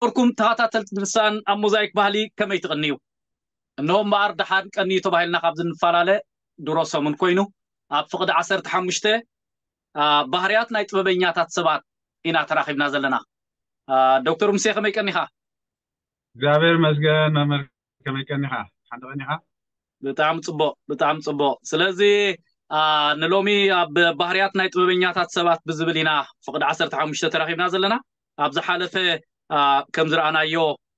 ዝኸበርኩም ተኸታተልቲ ድርሳን ኣብ ሞዛይክ ባህሊ ከመይ ትቕንዩ? እንሆ እምበኣር ደሓን ቀንዩ ተባሂልና ካብ ዝንፈላለ ድሮ ሰሙን ኮይኑ፣ ኣብ ፍቕዲ ዓሰርተ ሓሙሽተ፣ አ፣ ባህርያት ናይ ጥበበኛታት ሰባት ኢና ተራኺብና ዘለና። አ፣ ዶክተር ሙሴ ከመይ ቀኒኻ? እግዚኣብሔር ይመስገን መምህር፣ ከመይ ቀኒኻ? ሓንቲ ቀኒኻ? ብጣዕሚ ጽቡቕ፣ ብጣዕሚ ጽቡቕ። ስለዚ፣ አ፣ ንሎሚ ኣብ ባህርያት ናይ ጥበበኛታት ሰባት ብዝብል ኢና ፍቕዲ ዓሰርተ ሓሙሽተ ተራኺብና ዘለና። ኣብ ዝሓለፈ፣ አ፣ ከም ዝረኣናዮ፣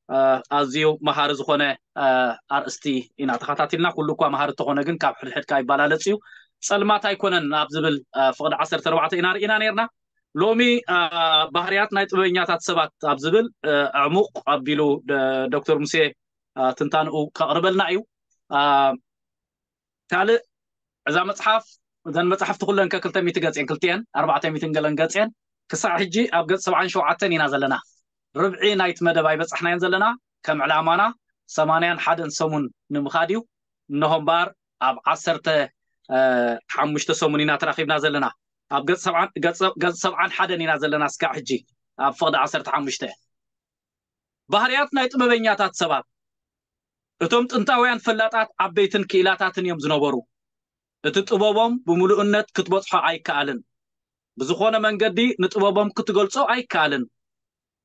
አ፣ ኣዝዩ መሃሪ ዝኾነ፣ አ፣ ኣርእስቲ ኢና ተኸታቲልና። ኩሉ እኳ መሃሪ እንተኾነ ግን ካብ ሕድሕድ ከኣ ይበላለጽ እዩ። ጸልማት ኣይኮነን ኣብ ዝብል፣ አ፣ ፍቕዲ ዓሰርተ ኣርባዕተ ኢና ርኢና ነርና። ሎሚ፣ አ፣ ባህርያት ናይ ጥበበኛታት ሰባት ኣብ ዝብል፣ አ፣ ዕሙቕ ኣቢሉ ደ-፣ ዶክተር ሙሴ፣ አ፣ ትንታንኡ ከቕርበልና እዩ። አ፣ ካልእ እዛ መጽሓፍ፣ እዘን መጽሓፍቲ ኩለን ከ ክልተ ሚእቲ ገጽ እየን፣ ክልቲኤን ኣርባዕተ ሚእትን ገለን ገጽ እየን። ክሳዕ ሕጂ ኣብ ገጽ ሰብዓን ሸውዓተን ኢና ዘለና። ርብዒ ናይቲ መደብ ኣይበጻሕናዮን ዘለና። ከም ዕላማና ሰማንያን ሓደን ሰሙን ንምኻድ እዩ። እንሆ እምበኣር ኣብ ዓሰርተ ሓሙሽተ ሰሙን ኢና ተራኺብና ዘለና። ኣብ ገጽ ሰብዓን፣ ገጽ፣ ገጽ ሰብዓን ሓደን ኢና ዘለና እስካዕ ሕጂ፣ ኣብ ፍቕዲ ዓሰርተ ሓሙሽተ። ባህርያት ናይ ጥበበኛታት ሰባት። እቶም ጥንታውያን ፈላጣት ዓበይትን ክኢላታትን እዮም ዝነበሩ። እቲ ጥበቦም ብምሉእነት ክትበጽሖ ኣይከኣልን። ብዝኾነ መንገዲ ንጥበቦም ክትገልጾ ኣይከኣልን።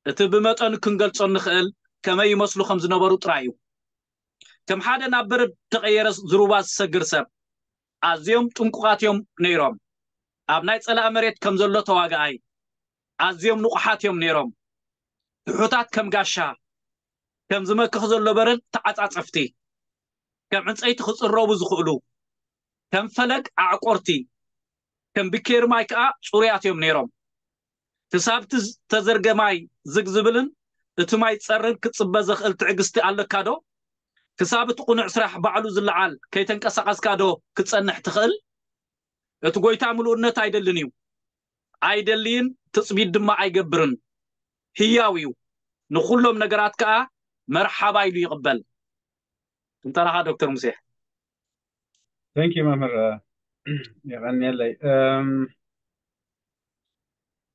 እቲ ብመጠኑ ክንገልጾ እንኽእል ከመይ ይመስሉ ከም ዝነበሩ ጥራይ እዩ። ከም ሓደ ናብ በረድ ተቐየረ ዝሩባ ዝሰግር ሰብ ኣዝዮም ጥንቁቓት እዮም ነይሮም። ኣብ ናይ ጸላእ መሬት ከም ዘሎ ተዋጋኣይ ኣዝዮም ንቑሓት እዮም ነይሮም። ትሑታት ከም ጋሻ፣ ከም ዝመክኽ ዘሎ በረድ ተዓጻጸፍቲ፣ ከም ዕንጸይቲ ክጽረቡ ዝኽእሉ፣ ከም ፈለግ ኣዕቆርቲ፣ ከም ብኬሪ ማይ ከኣ ጽሩያት እዮም ነይሮም። ክሳብ እቲ ዝተዘርገ ማይ ዝግ ዝብልን እቲ ማይ ዝጸርን ክትጽበ ዘኽእል ትዕግስቲ ኣለካ ዶ? ክሳብ እቲ ቅኑዕ ስራሕ ባዕሉ ዝለዓል ከይተንቀሳቐስካ ዶ ክትጸንሕ ትኽእል? እቲ ጎይታ ምሉእነት ኣይደልን እዩ፣ ኣይደልይን፣ ትጽቢት ድማ ኣይገብርን። ህያው እዩ፣ ንኹሎም ነገራት ከኣ መርሓባ ኢሉ ይቕበል። ትንተናኻ ዶክተር ሙሴ። Thank you መምህር፣ የቐንየለይ። እም፣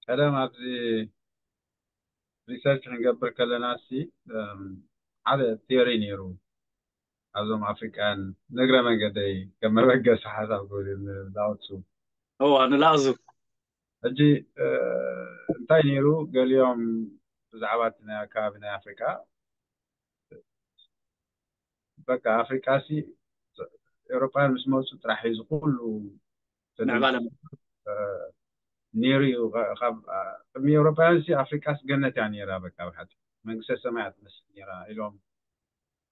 ቀደም ኣብዚ ሪሰርች ክንገብር ከለና ሲ፣ እም፣ ሓደ ቲዮሪ ነይሩ ኣብዞም ኣፍሪቃውያን፣ ንእግረ መንገደይ ከም መበገሲ ሓሳብ ክብል እዩ፣ ንላኦትሱ። እዋ፣ ንላኦትሱ። ሕጂ፣ እ፣ እንታይ ነይሩ? ገሊኦም ብዛዕባ እቲ ናይ ኣከባቢ ናይ ኣፍሪቃ፣ በቃ ኣፍሪቃ ሲ ኤውሮጳውያን ምስ መፁ ጥራሕ እዩ እዚ ኩሉ ምዕባለ። እ፣ ነይሩ እዩ። ካ-፣ ካብ፣ እ፣ ቅድሚ ኤውሮጳውያን ሲ ኣፍሪቃስ ገነት እያ ነይራ። በቃ ብሓቂ መንግስተ ሰማይ እያ ትመስል ነይራ ኢሎም፣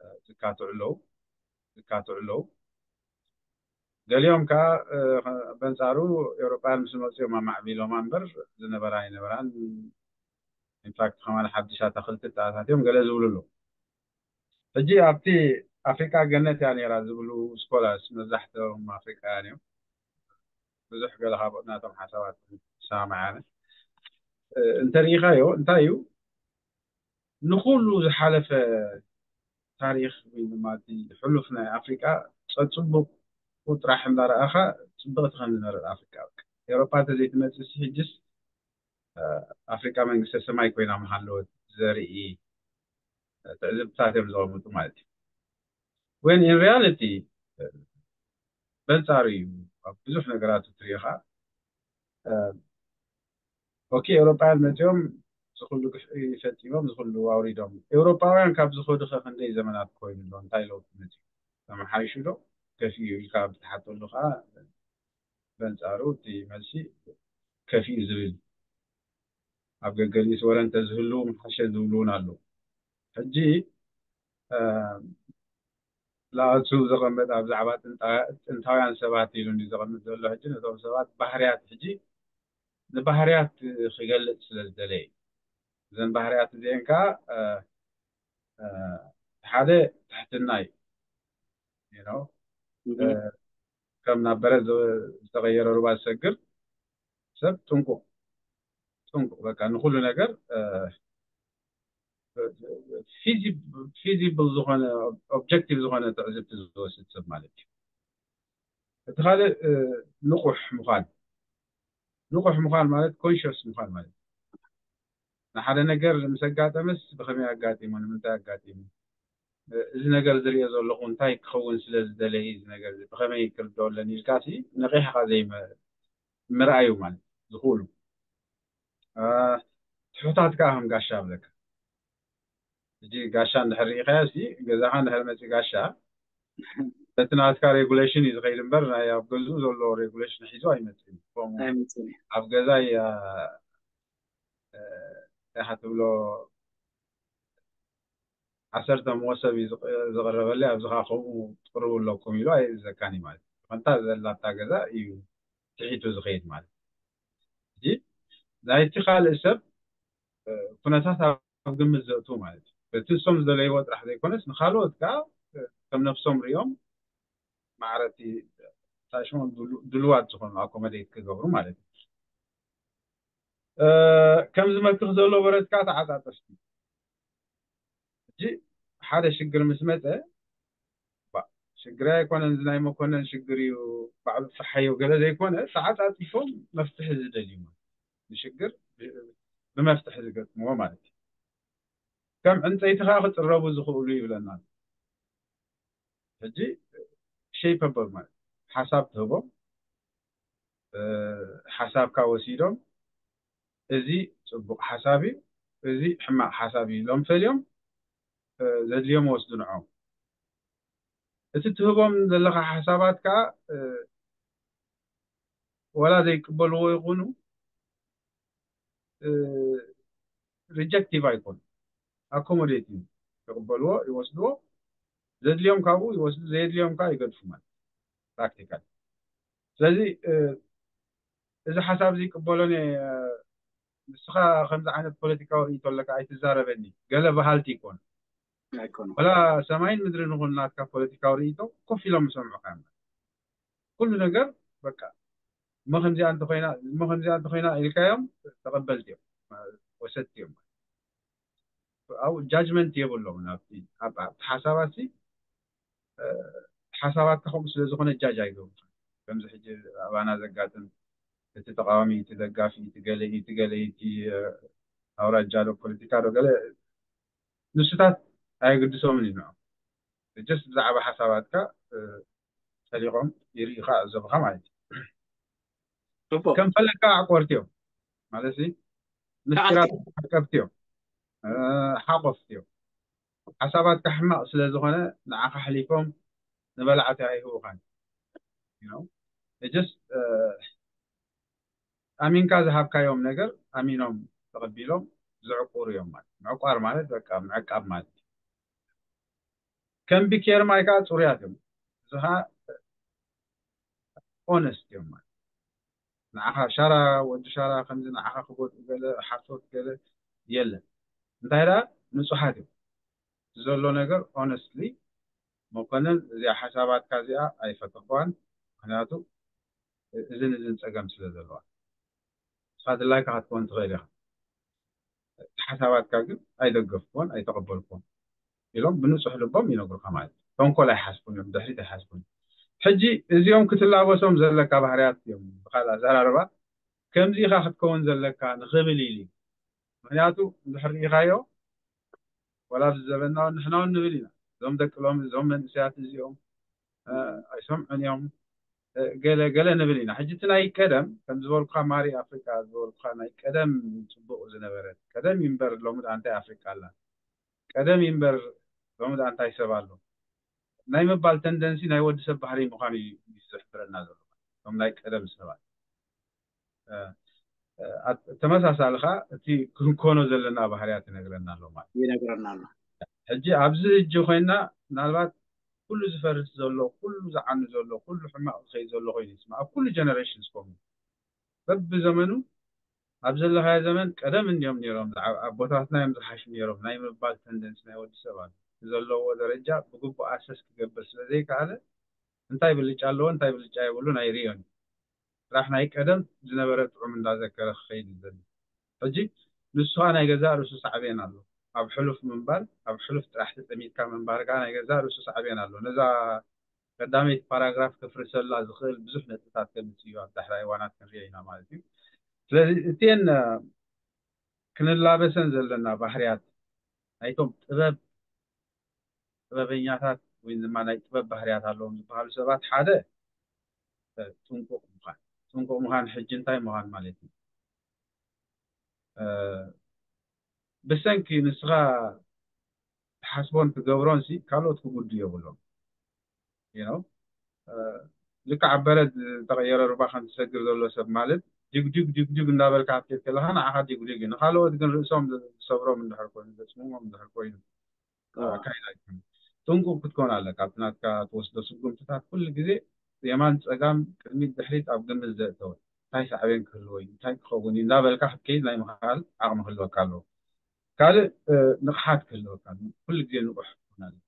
እ፣ ዝካትዑ ኣለዉ፣ ዝካትዑ ኣለዉ። ገሊኦም ከዓ፣ እ፣ በንጻሩ ኤውሮጳውያን ምስ መፁ እዮም ኣማዕቢሎማ እምበር ዝነበራ ኣይነበራን። ኢንፋክት ከማን ሓድሽ ኣታኽልቲ ተኣታትዮም ገለ ዝብሉ ኣለዉ። ሕጂ ኣብቲ ኣፍሪቃ ገነት እያ ነይራ ዝብሉ ስኮላርስ መብዛሕትኦም ኣፍሪቃውያን እዮም። ብዙሕ ገለ ካብ ናቶም ሓሳባት ይሰማማዕ ኣነ። እ፣ እንተሪኢኻዮ እንታይ እዩ ንኹሉ ዝሓለፈ ታሪኽ ወይ ድማ እቲ ሕሉፍ ናይ ኣፍሪቃ ጸጽቡቑ ጥራሕ እንዳረኣኻ ጽብቕቲ ከም ዝነበረት ኣፍሪቃ፣ በቃ ኤውሮጳ እንተዘይትመጽእ ሲ ሕጅስ፣ እ፣ ኣፍሪቃ መንግስተ ሰማይ ኮይና ምሃለወት ዘርኢ፣ እ፣ ትዕዝብትታት እዮም ዘቐምጡ ማለት እዩ። When in reality፣ እ፣ በንጻሩ እዩ። ኣብ ብዙሕ ነገራት እትሪኢኻ፣ እ፣ ኦኬ፣ ኤውሮጳውያን መጺኦም ዝኹሉ ግፍዒ ፈጺሞም፣ ዝኹሉ ኣውሪዶም። ኤውሮጳውያን ካብ ዝኸዱ ኸ ክንደይ ዘመናት ኮይኑ ኣሎ? እንታይ ለውጢ መጺኡ? ተመሓይሹ ዶ ከፊኡ ኢልካ ኣብ ትሓተሉ ኸኣ፣ በንጻሩ እቲ መልሲ ከፊኡ ዝብል፣ ኣብ ገገሊኡስ ወረ እንተዝህሉ ምሓሸ ዝብሉ እውን ኣለዉ። ሕጂ፣ እ፣ ላኦትሱ ዘቐመጠ ኣብ ዛዕባ ጥንታ-፣ ጥንታውያን ሰባት ኢሉ እንዲ ዘቐምጥ ዘሎ፣ ሕጂ ነቶም ሰባት ባህርያት፣ ሕጂ ንባህርያት ክገልጽ ስለ ዝደለየ እዩ። እዘን ባህርያት እዚአን ከኣ፣ እ፣ እ፣ ሓደ ትሕትና እዩ። You know? እ፣ ከም ናብ በረድ ዝ-፣ ዝተቐየረ ሩባ ዝሰግር ሰብ ጥንቁቕ፣ ጥንቁቕ፣ በቃ ንኹሉ ነገር፣ እ፣ ፊዚ-፣ ፊዚብል ዝኾነ፣ ኦብጀክቲቭ ዝኾነ ትዕዝብቲ ዝወስድ ሰብ ማለት እዩ። እቲ ካልእ፣ እ፣ ንቑሕ ምዃን። ንቑሕ ምዃን ማለት ኮንሽስ ምዃን ማለት እዩ። ንሓደ ነገር ምስ ኣጋጠመስ ብኸመይ ኣጋጢሙ፣ ንምንታይ ኣጋጢሙ፣ እዚ ነገር ዝሪኦ ዘለኹ እንታይ ክኸውን ስለ ዝደለየ እዚ ነገር እዚ ብኸመይ ክርድኦ ኣለኒ ኢልካ ሲ ነቒሕካ ዘይምርኣዩ ማለት ዝኽእሉ ትሑታት ከዓ ከም ጋሻ ኣብለካ። ሕጂ ጋሻ እንድሕር ርኢኻዮ ሲ ገዛኻ እንድሕር መፂ ጋሻ በቲ ናትካ ሬጉሌሽን እዩ ዝኸይድ እምበር ናይ ኣብ ገዝኡ ዘሎ ሬጉሌሽን ሒዙ ኣይመፅእን። ከምኡ ኣይመፅእን እዩ። ኣብ ገዛይ ኢኻ ትብሎ ዓሰርተ መወሰብ እዩ ዝቕ- ዝቕረበለይ ኣብዚ ከዓ ከምኡ ትቕርቡ ኣለኩም ኢሉ ኣይእዘካን እዩ ማለት እዩ። ከንታ ዘላታ ገዛ እዩ ትሒቱ ዝኸይድ ማለት እዩ። ሕጂ ናይቲ ካልእ ሰብ ኩነታት ኣብ ግምት ዘእቱ ማለት እዩ። በቲ ንሶም ዝደለይዎ ጥራሕ ዘይኮነስ ንካልኦት ከዓ ከም ነብሶም ሪኦም ማዕረቲ ታሽሞም ድሉ- ድሉዋት ዝኾኑ ኣኮመዴት ክገብሩ ማለት እዩ። ከም ዝመክኽ ዘሎ በረትካ ተዓጣጠፍቲ ሕጂ ሓደ ሽግር ምስ መፀ ባ- ሽግር ኣይኮነን እዚ ናይ መኮነን ሽግር እዩ ባዕሉ ፍርሓዮ ገለ ዘይኮነ ተዓጣጢፎም መፍትሒ ዝደልዩ ማለት እዩ። ንሽግር ብ- ብመፍትሒ ዝገጥምዎ ማለት እዩ። ከም ዕንፀይቲ ከዓ ክፅረቡ ዝኽእሉ ይብለና ኣሎ። ሕጂ ሸይፐብል ማለት ሓሳብ ትህቦም ሓሳብካ ወሲዶም እዚ ፅቡቅ ሓሳብ እዩ፣ እዚ ሕማቅ ሓሳብ እዩ ኢሎም ፈልዮም ዘድልዮም ወስዱ ንዖም። እቲ ትህቦም ዘለካ ሓሳባት ከዓ ወላ ዘይቅበልዎ ይኹኑ ሪጀክቲቭ ኣይኮኑ ኣኮሞዴት እዩ ይቅበልዎ ይወስድዎ ዘድልዮም ካብኡ ይወስዱ ዘየድልዮም ከዓ ይገድፉ ማለት ፕራክቲካል ስለዚ እዚ ሓሳብ እዚ ይቅበሎን እየ ንስኻ ከምዚ ዓይነት ፖለቲካዊ ርእይቶ ኣለካ ኣይትዛረበኒ ገለ በሃልቲ ይኮኑ ኣይኮኑ ወላ ሰማይን ምድሪ ንኹን ናትካ ፖለቲካዊ ርእይቶ ኮፍ ኢሎም ዝሰምዑካ እዮም ኩሉ ነገር በቃ እሞ ከምዚኣ እንተኮይና እሞ ከምዚኣ እንተኮይና ኢልካዮም ተቐበልቲ እዮም ወሰድቲ እዮም ኣብኡ ጃጅመንት የብሎም ናብቲ ኣብቲ ሓሳባት ሓሳባትካ ከምኡ ስለ ዝኾነ ጃጅ ኣይገብሩ ከምዚ ሕጂ ኣባና ዘጋጥም እቲ ተቃዋሚ እቲ ደጋፊ እቲ ገለ እቲ ገለ እቲ ኣውራጃ ዶ ፖለቲካ ዶ ገለ ንስታት ኣየግድሶምን እዩ ንዖም ጀስት ብዛዕባ ሓሳባትካ ጠሊቆም ይርኢ ይዕዘቡኻ ማለት እዩ ጽቡቅ ከም ፈለካ ኣዕቆርቲ እዮም ማለት ምስጢራት ሓቀብቲ እዮም ሓቆፍቲ እዮም ሓሳባትካ ሕማቅ ስለ ዝኾነ ንዓኻ ኣሕሊፎም ንበላዕቲ ኣይህቡኻን just ኣሚንካ ዝሃብካዮም ነገር ኣሚኖም ተቐቢሎም ዝዕቁሩ እዮም ማለት ምዕቋር ማለት በቃ ምዕቃብ ማለት እዩ ከም ቢኬር ማይ ከዓ ፅሩያት እዮም እዚ ከዓ ኦነስት እዮም ማለት ንዓኻ ሻራ ወዲ ሻራ ከምዚ ንዓኻ ክጎድኡ ገለ ሓሶት ገለ የለን እንታይ ደኣ ንፁሓት እዮም ዘሎ ነገር ኦነስትሊ መኮነን እዚኣ ሓሳባትካ እዚኣ ኣይፈተኽዋን ምክንያቱ እዝን እዝን ፀገም ስለ ዘለዋ ንስኻ ድላይካ ክትከውን ትኽእል ኢኻ እቲ ሓሳባትካ ግን ኣይደገፍክዎን ኣይተቐበልክዎን ኢሎም ብንፁሕ ልቦም ይነግሩካ ማለት እዩ ተንኮል ኣይሓስቡን እዮም ድሕሪት ኣይሓስቡን ሕጂ እዚኦም ክትላበሶም ዘለካ ባህርያት እዮም ብካል ኣዘራርባ ከምዚ ኢኻ ክትከውን ዘለካ ንኽብል ኢሉ ምክንያቱ እንድሕር ርኢኻዮ ወላ ኣብዚ ዘበና እውን ንሕና እውን ንብል ኢና እዞም ደቂ ሎሚ እዞም መንእሰያት እዚኦም ኣይሰምዑን እዮም ገለ ገለ ንብል ኢና ሕጂ እቲ ናይ ቀደም ከም ዝበልኩካ ማሪ ኣፍሪካ ዝበልኩካ ናይ ቀደም ፅቡቅ ዝነበረ ቀደም ይንበር ሎሚ ደኣ እንታይ ኣፍሪካ ኣላ ቀደም ይንበር ሎሚ ደኣ እንታይ ሰብ ኣሎ ናይ ምባል ተንደንሲ ናይ ወዲ ሰብ ባህሪ ምኳኑ እዩ ዝሕብረና ዘሎ እቶም ናይ ቀደም ሰባት ተመሳሳሊ ከዓ እቲ ክንኮኖ ዘለና ባህርያት ይነግረና ኣሎ ማለት ይነግረና ኣሎ ሕጂ ኣብዚ እጂ ኮይና ምናልባት ኩሉ ዝፈርስ ዘሎ ኩሉ ዝዓኑ ዘሎ ኩሉ ሕማቅ ዝኸይድ ዘሎ ኮይኑ ይስማ ኣብ ኩሉ ጀነሬሽን ስኮም በብዘመኑ ኣብ ዘለካዮ ዘመን ቀደም እንዲዮም ነይሮም ኣቦታትና እዮም ዝሓሹ ነይሮም ናይ ምባል ተንደንስ ናይ ወዲ ሰብ ኣሎ ዘለዎ ደረጃ ብግቡእ ኣሰስ ክገብር ስለ ዘይከኣለ እንታይ ብልጫ ኣለዎ እንታይ ብልጫ የብሉን ኣይርእዮን ስራሕ ናይ ቀደም ዝነበረ ጥዑም እንዳዘከረ ክኸይድ ይደሊ ሕጂ ንሱ ከዓ ናይ ገዛእ ርእሱ ሳዕቤን ኣሎ ኣብ ሕሉፍ ምንባር ኣብ ሕሉፍ ጥራሕ ተጠሚትካ ምንባር ከዓ ናይ ገዛእ ርእሱ ሳዕቤን ኣሎ ነዛ ቀዳመይቲ ፓራግራፍ ከፍርሰላ ዝኽእል ብዙሕ ነጥብታት ከምፅእ እዩ ኣብ ዳሕራይ እዋናት ክንሪኦ ኢና ማለት እዩ ስለዚ እቲን ክንላበሰን ዘለና ባህርያት ናይቶም ጥበብ ጥበበኛታት ወይ ድማ ናይ ጥበብ ባህርያት ኣለዎም ዝበሃሉ ሰባት ሓደ ጥንቁቕ ምዃን። ጥንቁቕ ምዃን ሕጂ እንታይ ምዃን ማለት እዩ? ብሰንኪ ንስኻ ትሓስቦን ትገብሮን ሲ ካልኦት ክጉዱ የብሎም። ልክዕ ኣብ በረድ ዝተቐየረ ሩባ ከም ዝሰግር ዘሎ ሰብ ማለት ጅግጅግ ጅግጅግ እንዳበልካ ክትከድ ከለኻ ንዓኻ ጅግጅግ እዩ። ንኻልኦት ግን ርእሶም ዝሰብሮም እንድሕር ኮይኑ ዘፅምሞም እንድሕር ኮይኑ ኣካይዳ ኣይኮነ። ጥንቁቕ ክትኮን ኣለካ። ኣብቲ ናትካ ትወስዶ ስጉምትታት ኩሉ ግዜ የማን ፀጋም ቅድሚት ድሕሪት ኣብ ግምት ዘእተወ እንታይ ሳዕቤን ክህልዎ እዩ እንታይ ክኸውን እዩ እንዳበልካ ክትከይድ ናይ ምኽኣል ዓቕሚ ክህልወካ ኣለዎ። ካልእ ንቕሓት ክህልወካ ኩሉ ግዜ ንቑሕ ክትኮን ኣለካ።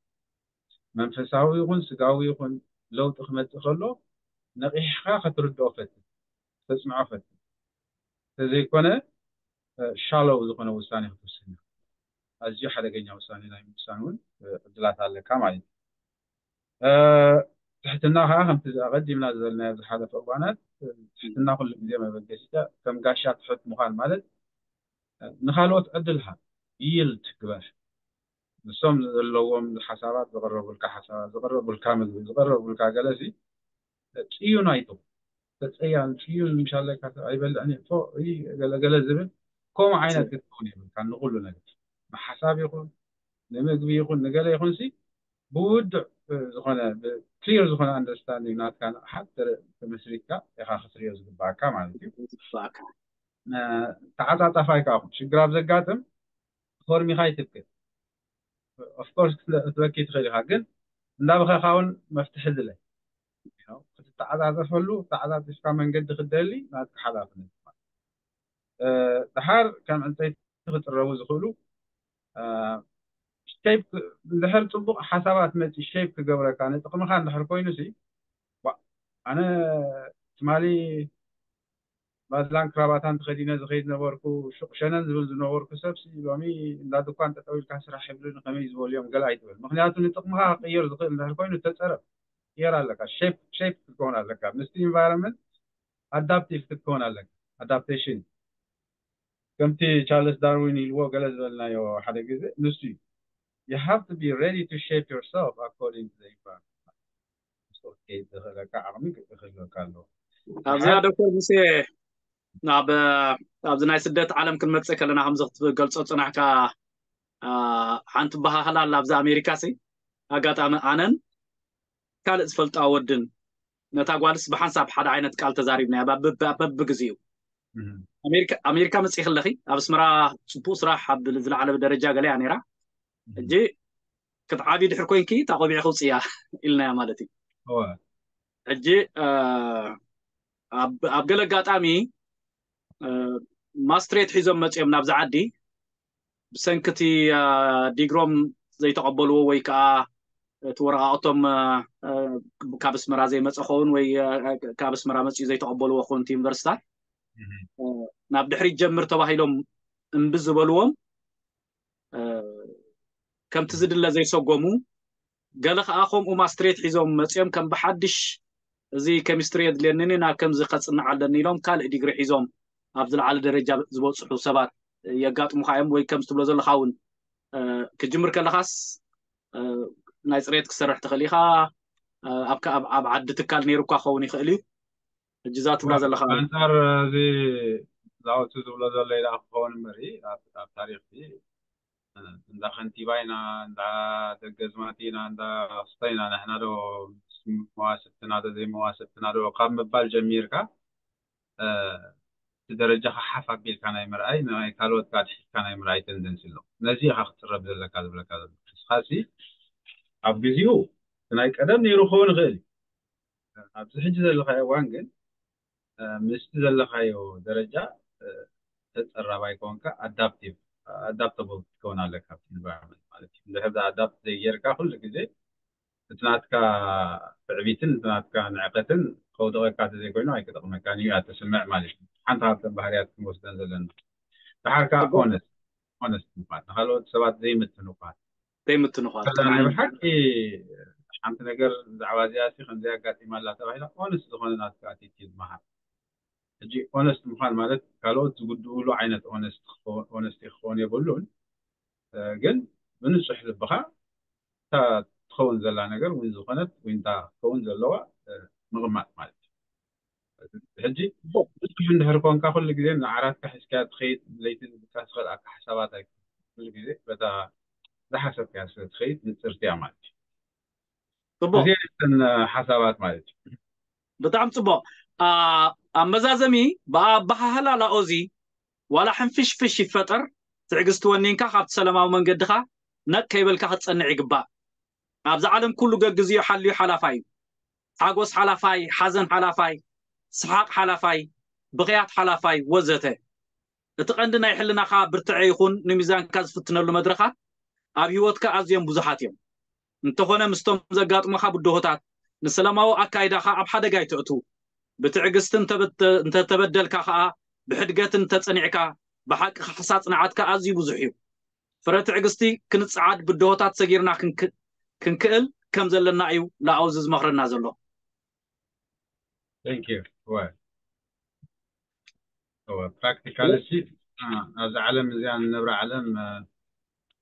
መንፈሳዊ ይኹን ስጋዊ ይኹን ለውጢ ክመፅእ ከሎ ነቒሕካ ክትርድኦ ፈትን፣ ክተፅንዖ ፈትን። እንተዘይኮነ ሻለው ዝኾነ ውሳኔ ክትውስን ኢኻ። ኣዝዩ ሓደገኛ ውሳኔ ናይ ምውሳን እውን ዕድላት ኣለካ ማለት እዩ። ትሕትና ከዓ ከምቲ ኣቐዲምና ዝበልናዮ ዝሓለፈ እዋናት ትሕትና ኩሉ ግዜ መበገሲታ ከም ጋሻ ትሑት ምዃን ማለት ንኻልኦት ዕድል ሃብ፣ ይልድ ግበር። ንሶም ዘለዎም ሓሳባት ዝቕረቡልካ ሓሳባት ዝቕረቡልካ ምግቢ ዝቕረቡልካ ገለሲ ጽዩን ኣይትኹን። ተጸያን ጽዩን ምሻለካ ኣይበልዕን እፎ ገለገለ ዝብል ከምኡ ዓይነት ክትኸውን የብልካ። ንኩሉ ነገር ንሓሳብ ይኹን ንምግቢ ይኹን ንገለ ይኹን ሲ ብውዱዕ ዝኾነ ክሊር ዝኾነ ኣንደርስታንዲንግ ናትካ ንቕሓት ተመስሪትካ ኢኻ ክትሪኦ ዝግባኣካ ማለት እዩ። ተዓጻጻፋይ ከዓ ሽግር ኣብ ዘጋጥም ፎርሚኻ ይትክል። ኦፍኮርስ ክትበኪ ትኽእል ኢኻ ግን እንዳበኸኻ እውን መፍትሒ ዝለ ክትተዓጻጸፈሉ ተዓጻጺፍካ መንገዲ ክትደሊ ናትካ ሓላፍነት። ድሓር ከም ዕንፀይቲ ክጥረቡ ዝኽእሉ ሸይፕ እንድሕር ፅቡቕ ሓሳባት መፂ ሸይፕ ክገብረካ ንጥቕምኻ እንድሕር ኮይኑ ሲ ኣነ ትማሊ ባድላን ክራባታን ተኸዲነ ዝኸይድ ነበርኩ ሹቕ ሸነን ዝብል ዝነበርኩ ሰብ ሲ ሎሚ እንዳ ድኳን ጠጠው ኢልካ ስራሕ ይብሉኒ ከመይ ዝበሉ እዮም ገለ ኣይትበል ምክንያቱ ንጥቕምኻ ክቅየር ዝኽእል እንድሕር ኮይኑ ተፀረብ ቅየር ኣለካ ሸይፕ ሸይፕ ክትከውን ኣለካ ምስቲ ኢንቫይሮንመንት ኣዳፕቲቭ ክትከውን ኣለካ ኣዳፕቴሽን ከምቲ ቻርልስ ዳርዊን ኢልዎ ገለ ዝበልናዮ ሓደ ግዜ ንሱ እዩ you have to be ready to shape yourself according to the environment ዝኽእለካ ዓቕሚ ክህልወካ ኣለዎ ኣብዚኣ ዶክተር ሙሴ ናብ ኣብዚ ናይ ስደት ዓለም ክንመፅእ ከለና ከምዚ ክትገልፆ ፅናሕካ ሓንቲ በሃህላ ኣላ ኣብዚ ኣሜሪካ ሲ ኣጋጣሚ ኣነን ካልእ ዝፈልጣ ወድን ነታ ጓልስ ብሓንሳብ ሓደ ዓይነት ቃል ተዛሪብና በብግዜኡ ኣሜሪካ መፅኢ ከለኺ ኣብ ኣስመራ ፅቡቅ ስራሕ ኣብ ዝለዓለ ደረጃ ገለያ ነይራ ሕጂ ክትዓብዪ ድሕር ኮይንኪ እታ ቆቢዕኺ ውፅእያ ኢልናያ ማለት እዩ ሕጂ ኣብ ገለ ኣጋጣሚ ማስትሬት ሒዞም መፅኦም ናብዚ ዓዲ ብሰንኪ እቲ ዲግሮም ዘይተቐበልዎ ወይ ከዓ እቲ ወረቃቅቶም ካብ ኣስመራ ዘይመፀ ኸውን ወይ ካብ ኣስመራ መፅኡ ዘይተቐበልዎ ኸውን እቲ ዩኒቨርሲታት ናብ ድሕሪት ጀምር ተባሂሎም እምቢ ዝበልዎም ከምቲ ዝድለ ዘይሰጎሙ ገለ ከዓ ከምኡ ማስትሬት ሒዞም መፅኦም ከም ብሓድሽ እዚ ኬሚስትሪ የድልየኒን ናብ ከምዚ ከፅንዕ ኣለኒ ኢሎም ካልእ ዲግሪ ሒዞም ኣብ ዝለዓለ ደረጃ ዝበፅሑ ሰባት የጋጥሙካ እዮም ወይ ከምዚ ትብሎ ዘለካ እውን ክጅምር ከለካስ ናይ ፅሬት ክሰርሕ ትኽእል ኢኻ ኣብ ዓዲ ትካል ነይሩካ ክኸውን ይኽእል እዩ ሕጂ እዛ ትብላ ዘለካ ኣንፃር እዚ ዛውቲ ዝብሎ ዘሎ ኢላ ክኸውን እምበሪ ኣብ ታሪክ እንዳ ከንቲባ ኢና እንዳ ደገዝማት ኢና እንዳ ክስተ ኢና ንሕና ዶ መዋስብትና ዶ ዘይመዋስብትና ዶ ካብ ምባል ጀሚርካ እቲ ደረጃኻ ሓፍ ኣቢልካ ናይ ምርኣይ ናይ ካልኦት ጋር ትሒዝካ ናይ ምርኣይ ተንደንሲ ኣሎ ነዚ ኢኻ ክትፅረብ ዘለካ ዝብለካ ዘሎ ንስኻሲ ኣብ ግዜኡ ናይ ቀደም ነይሩ ክኸውን ይኽእል እዩ ኣብዚ ሕጂ ዘለካዮ እዋን ግን ምስቲ ዘለካዮ ደረጃ ተፀራባይ ከሆንካ ኣዳፕቲቭ ኣዳፕተብል ክትከውን ኣለካ ኣብቲ ኢንቫይሮንመንት ማለት እዩ እንድሕር ኣዳፕት ዘይጌርካ ኩሉ ግዜ እቲ ናትካ ትዕቢትን እቲ ናትካ ንዕቀትን ከውደቐካ ተዘይኮይኑ ኣይክጠቕመካን እዩ እያ ትስምዕ ማለት እዩ ሓንቲ ካብተን ባህርያት ክንወስደን ዘለና ድሓር ከዓ ኦነስት ኦነስት ምዃን ንካልኦት ሰባት ዘይምትንኳን ዘይምትንኳን ከለና ናይ ብሓቂ ሓንቲ ነገር ብዛዕባ እዚኣ ሲ ከምዚ ኣጋጢማ ኣላ ተባሂላ ኦነስት ዝኾነ ናትካ ኣቲቲድ መሃር ሕጂ ኦነስት ምዃን ማለት ካልኦት ዝጉድእሉ ዓይነት ኦነስት ክኾ- ኦነስቲ ክኸውን የብሉን። እ፣ ግን ብንጹሕ ልብኻ እታ ትኸውን ዘላ ነገር ወይ ዝኾነት ወይ እንታ ክትከውን ዘለዋ እ፣ ምቕማጥ ማለት እዩ። ሕጂ ብዙሕ እንድሕር ኮንካ ኩሉ ግዜ ንዓራትካ ሒዝካ ትኸይድ፣ ለይቲ ዝብቃ ዝኽእል ኣካ ሓሳባት ኣይ ኩሉ ግዜ በታ ዝሓሰብካያ ስለ ትኸይድ ንጽርቲ እያ ማለት እዩ። ጽቡቅ። እዚኣተን ሓሳባት ማለት እዩ። ብጣዕሚ ጽቡቅ። ኣ፣ ኣብ መዛዘሚ ብኣበሃህላ ላኦዚ ዋላ ሕንፍሽፍሽ ይፈጠር ትዕግስቲ ወኒንካ ካብቲ ሰላማዊ መንገድኻ ነቅ ከይበልካ ክትጸንዕ ይግባእ። ኣብዚ ዓለም ኩሉ ገግዚኡ ሓልዩ ሓላፋይ እዩ። ሓጎስ ሓላፋይ፣ ሓዘን ሓላፋይ፣ ሰሓቅ ሓላፋይ፣ ብኽያት ሓላፋይ ወዘተ። እቲ ቀንዲ ናይ ሕልናኻ ብርትዐ ይኹን ንሚዛንካ ዝፍትነሉ መድረኻት ኣብ ህይወትካ ኣዝዮም ብዙሓት እዮም። እንተኾነ ምስቶም ዘጋጥሙኻ ብድሆታት ንሰላማዊ ኣካይዳኻ ኣብ ሓደጋ ኣይተእቱ። ብትዕግስቲ እንተበተ- እንተተበደልካ ኸኣ ብሕድገት እንተጸኒዕካ ብሓቂ ካሕሳ ጽንዓትካ ኣዝዩ ብዙሕ እዩ። ፍረ ትዕግስቲ ክንጸዓድ ብድሆታት ሰጊርና ክንክ- ክንክእል ከም ዘለና እዩ ላኦዚ ዝመኽረና ዘሎ። Thank you. እወ። እወ፣ ፕራክቲካል እሺ፣ እ፣ ኣብዚ ዓለም እዚኣ ንነብራ ዓለም እ፣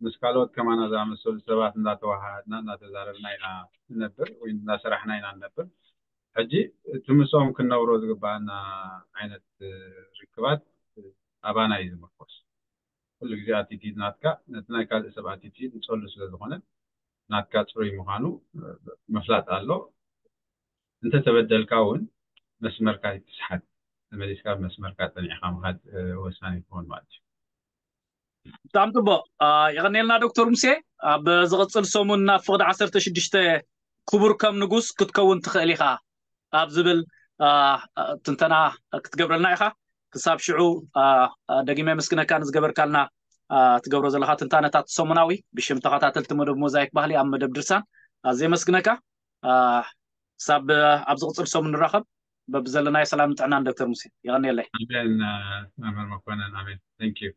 ምስ ካልኦት ከማና ዝኣመሰሉ ሰባት እንዳተዋሃሃድና እንዳተዛረብና ኢና ንነብር ወይ እንዳሰራሕና ኢና ንነብር። ሕጂ እቲ ምስኦም ክንነብሮ ዝግባኣና ዓይነት እ፣ ርክባት እ፣ ኣባና እዩ ዝምርኮስ። ኩሉ ግዜ ኣቲቲድ ናትካ ነቲ ናይ ካልእ ሰብ ኣቲቲድ ይጸሉ ስለ ዝኾነ ናትካ ጽሩይ ምዃኑ እ፣ ምፍላጥ ኣሎ። እንተተበደልካ እውን መስመርካ ይትስሓት፣ ተመሊስካ መስመርካ ጸኒዕካ ምኻድ እ፣ ወሳኒ ይኸውን ማለት እዩ። ብጣዕሚ ጽቡቅ። ኣ፣ የቐንየልና ዶክተር ሙሴ። ኣብ ዝቕጽል ሰሙን ናብ ፍቕዲ ዓሰርተ ሽዱሽተ ክቡር ከም ንጉስ ክትከውን ትኽእል ኢኻ ኣብ ዝብል ኣ፣ ትንተና ክትገብረልና ኢኻ። ክሳብ ሽዑ ኣ፣ ኣ፣ ደጊመ የመስግነካ ንዝገበርካልና ኣ፣ ትገብሮ ዘለኻ ትንታነታት ሰሙናዊ ብሽም ተኸታተልቲ መደብ ሞዛይክ ባህሊ ኣብ መደብ ድርሳን ኣዝየ የመስግነካ። ኣ፣ ክሳብ ኣብ ዝቕጽል ሰሙን ንራኸብ። በብዘለናዮ ሰላም ጥዕናን ዶክተር ሙሴ። የቐንየለይ። ኣሜን። እ፣ መምህር መኮነን ኣሜን። Thank you።